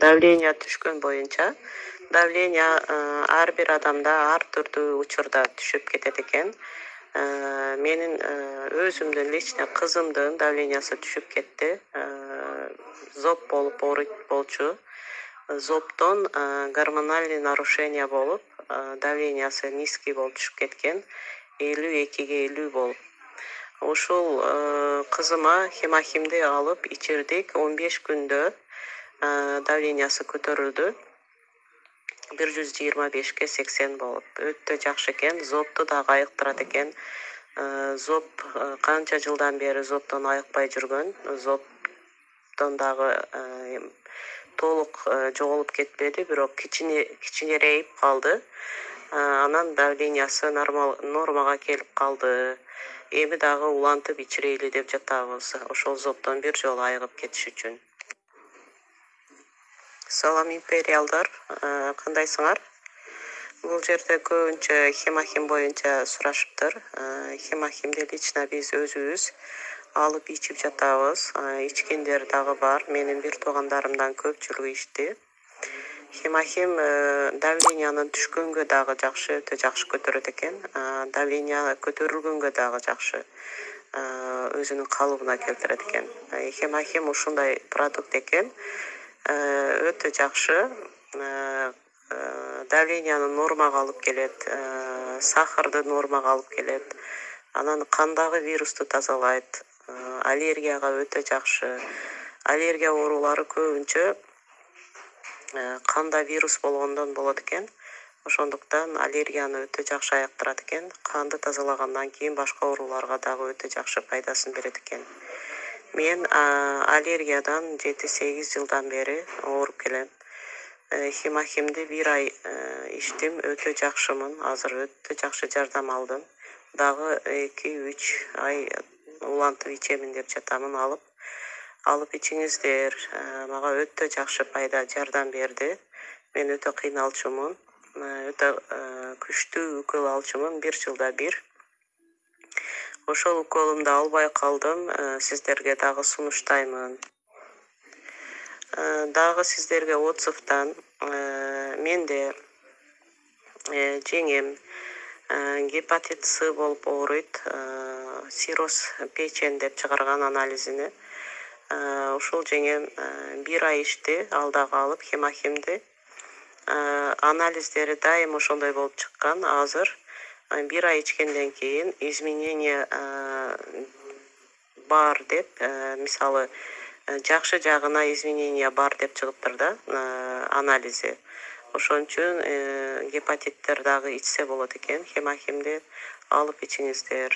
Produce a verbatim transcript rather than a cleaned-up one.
давление түшкөн боюнча давление ар бир адамда ар түрдүү учурда түшүп кетет экен. Менин өзүмдүн лично кызымдын давлениясы түшүп кетти. Зоб болуп ооруйт болчу. Зобдон гормональный нарушение болуп, давлениясы низкий болуп түшүп кеткен. элүү экиге элүү болуп. Ушул кызыма хемохимди алып ичирдик. он беш күндө давлениясы көтөрүлдү. бир жүз жыйырма бешке сексен болуп. Өтө жакшы экен. Зобду дагы айыктырат экен. Зоб канча жылдан бери зобдон айыкпай жүргөн. Зобдон дагы толук жоголуп кетпеди, бирок кичине кичинерейип калды. Анан давлениясы нормага келип калды. Эми дагы улантып ичирейли деп жатабыз. Ошол зобдон бир жолу айыгып кетиш үчүн. Салам империалдар, кандайсыңар? Бул жерде көбүнчө хемохим боюнча сурашыптыр. Хемохимди лично биз өзүбүз алып ичип жатабыз. Ичкендер дагы бар. Менин бир туугандарымдан көпчүлүгү ичти. Хемохим давлениянын түшкөнгө дагы жакшы, өтө жакшы көтөрөт экен. Давления көтөрүлгөнгө дагы жакшы. Өзүнүн калыбына келтирет экен. Хемохим ушундай продукт экен. Өтө жакшы. Давленияны нормага алып келет, сахарды нормага алып келет. Анан кандагы вирусту тазалайт. Аллергияга өтө жакшы. Аллергия оорулары көбүнчө канда вирус болгондон болот экен. Ошондуктан аллергияны өтө жакшы айыктырат экен. Канды тазалагандан кийин башка ооруларга дагы өтө жакшы пайдасын берет экен. Мен аллергиядан жети сегиз жылдан бери ооруп келем. Хемохимди бир ай ичтим, өтө жакшымын. Азыр өтө жакшы жардам алдым. Дагы эки үч ай улантып ичемин деп жатамын алып. Алып ичиңиздер. Мага өтө жакшы пайда жардам берди. Мен өтө кыйналчумун. Өтө күчтүү укол алчумун, бир жылда бир. Ошол уколумду албай калдым. Сиздерге дагы сунуштаймын. Дагы сиздерге отзывдан менде жеңем гепатит С болуп ооруйт. Сироз печень деп чыгарган анализини. Ушул жеңем бир ай ичти, ал дагы алып хемохимди. Анализдери дайым ошондой болуп чыккан. Азыр бир ай ичкенден кийин изменение бар деп, мисалы, жакшы жагына изменение бар деп чыгыптыр да анализи. Ошон үчүн гепатиттер дагы ичсе болот экен. Хемохимди алып ичиңиздер.